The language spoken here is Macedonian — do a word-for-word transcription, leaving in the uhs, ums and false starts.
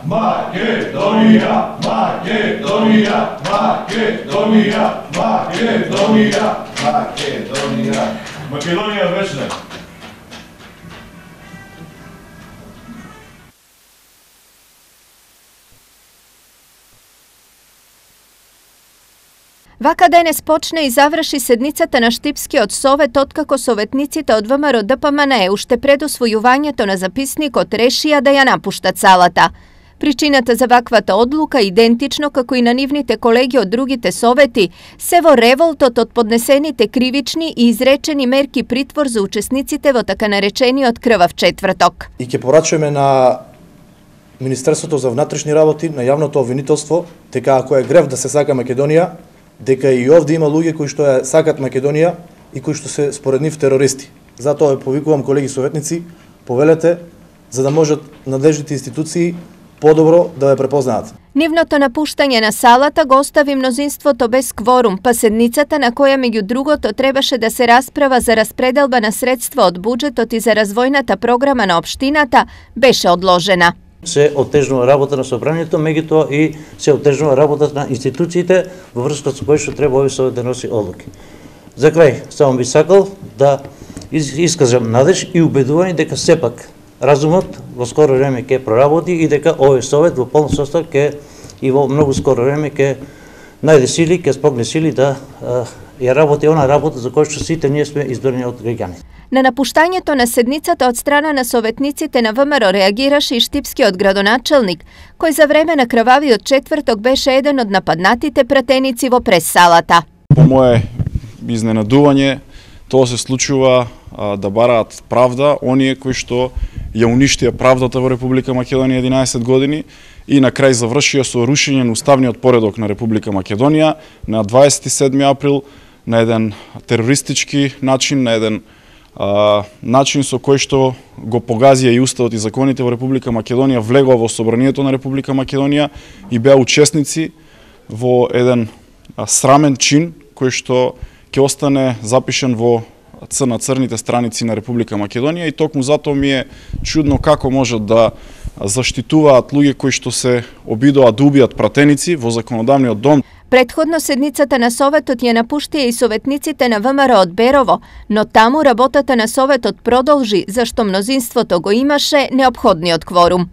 Македонија, Македонија, Македонија, Македонија, Македонија. Македонија вечна. Вака денес почне и заврши седницата на Штипскиот совет откако советниците од ВМРО Д П М Н Е уште пред усвојувањето на записникот решија да ја напуштат салата. Причината за ваквата одлука, идентично како и на нивните колеги од другите совети, се во револтот од поднесените кривични и изречени мерки притвор за учесниците во така наречениот крвав четврток. И ќе порачуваме на Министерството за внатрешни работи, на јавното обвинителство, дека ако е грев да се сака Македонија, дека и овде има луѓе кои што ја сакат Македонија и кои што се според нив терористи. Затоа повикувам колеги советници, повелете, за да можат надлежните институции подобро да ја препознаат. Нивното напуштање на салата го остави мнозинството без кворум, па седницата на која меѓу другото требаше да се расправа за распределба на средства од буџетот и за развојната програма на општината, беше одложена. Се оттежнува работа на собранието, меѓутоа и се оттежнува работата на институциите во врска со кој што треба овој совет да носи одлуки. За крај, само би сакал да искажам надеж и убедување дека сепак разумот во скоро време ќе проработи и дека овој совет во полн состав ќе и во многу скоро време ќе најде сили, ќе спогне сили да ја работи она работа за која што сите ние сме избрани од граѓани. На напуштањето на седницата од страна на советниците на ВМРО реагираше и штипскиот градоначелник, кој за време на крвавиот четврток беше еден од нападнатите пратеници во прес-салата. По мое изненадување, тоа се случува а, да бараат правда оние кои што ја уништија правдата во Република Македонија единаесет години и на крај завршија со рушење на уставниот поредок на Република Македонија на дваесет и седми април на еден терористички начин, на еден а, начин со кој што го погазија и уставот и законите во Република Македонија, влегоа во собранието на Република Македонија и беа учесници во еден а, срамен чин кој што ќе остане запишен во на црните страници на Република Македонија и токму затоа ми е чудно како можат да заштитуваат луѓе кои што се обидоа да убијат пратеници во законодавниот дом. Предходно седницата на Советот ја напуштија и советниците на ВМРО од Берово, но таму работата на Советот продолжи, зашто мнозинството го имаше неопходниот кворум.